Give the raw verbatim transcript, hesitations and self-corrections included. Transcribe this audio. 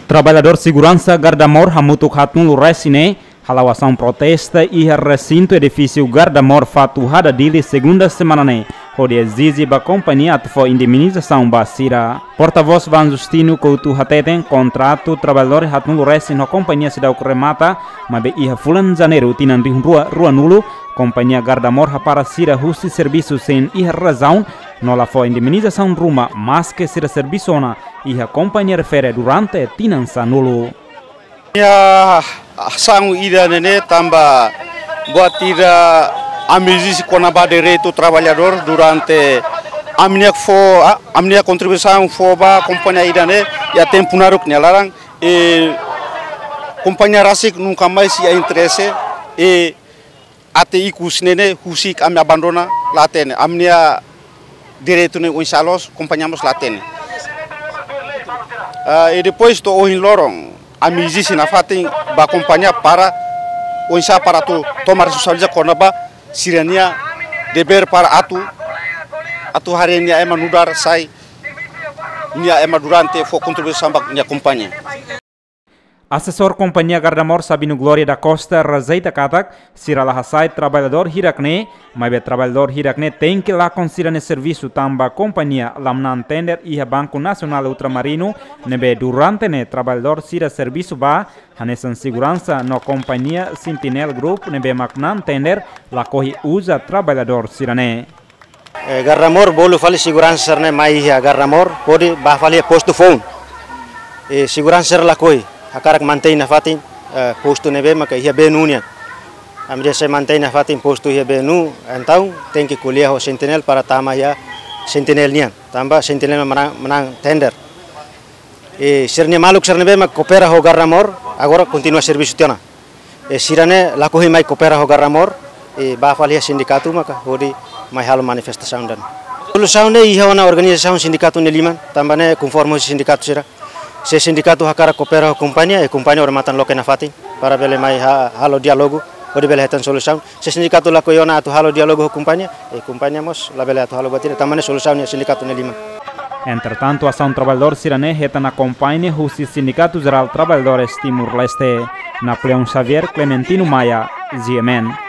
Traballadór seguransa Gardamor hamutuk haatnulu resin ne'e hala'o asaun protesta iha resintu edifísiu Gardamor Fatuhada, Dili, segunda semana ne'e, hodi ezije ba kompañia atu fó indemnizasaun ba sira. Portavós Van Justino Couto hateten kontratu traballadór haatnulu resin ho kompañia seidauk remata, maibé iha fulan Janeiru tinan rihun rua ruanulu, kompañia Gardamor hapara sira husi servisu sein iha razaun, no la fó indemnizasaun ruma, maske sira servisu ona iha kompañia refere durante tinan sanulu. Iha asaun ida-ne'e ne'e tanba buat ida ami ezije kona-ba direitu traballadór durante ami-nia fó, ah, ami-nia kontribuisaun fó ba kompañia ida-ne'e iha tempu naruk nia laran, i kompañia rasik nunka mais iha interese, i até ikus ne'e ne'e husik ami abandona la hatene. Ami-nia direitu ne'e oinsá loos, kompañia mós la hatene. Ah, i depois to'o ohin loron, ami ezije nafatin ba kompañia para oinsá para atu toma responsabilidade kona-ba sira-nia devér para atu, atu haree nia ema nu'udar sai nia ema durante fó kontribuisaun ba nia kompañia. Asesór kompañia Gardamor Sabino Gloria da Costa rejeita katak sira la hasai traballadór hirak-ne'e, maibé traballadór hirak-ne'e tenke lakon sira-nia servisu tanba kompañia la manán tender iha Banku Nasionál Ultramarinu, ne'ebé durante ne'e traballadór sira servisu ba, hanesan seguransa no kompañia Sentinel Group ne'ebé mak manán tender lakohi uza traballadór sira-ne'e. Eh, Gardamor bolu fali seguransa sira-ne'e mai iha Gardamor, hodi bá fali iha postu foun. Eh, seguransa sira lakohi, hakarak mantein nafatin, eh, postu ne'ebé maka iha Benu nian. Ami dehan se mantein nafatin postu iha Benu, entaun tenke ko'alia ho Sentinel para tama iha Sentinel nian. Tanba Sentinel manán, manán tender. Eh, sira-nia maluk sira ne'ebé mak koopera ho Gardamor, agora kontinua servisu tiha ona. Eh, sira-ne'e lakohi mai koopera ho Gardamor, eh, bá fali iha sindikatu maka hodi mai halo manifestasaun ida-ne'e. Solusaun ne'e iha ona organizasaun sindikatu nia liman, tanba ne'e konforme sindikatu sira. Se sindikatu hakarak koopera ho kompañia, eh, kompañia odamatan loke nafatin para bele mai ha-, halo diálogu, hodi bele hetan solusaun. Se sindikatu lakohi ona atu halo diálogu ho kompañia, eh, kompañia mós labele atu halo buat ida, tanba ne'e solusaun iha sindikatu nia liman. Entretantu, asaun traballadór sira-ne'e hetan akompaña husi Sindikatu Jerál Traballadores Timor-Leste. Napoleão Xavier, Clementino Maia, G M N.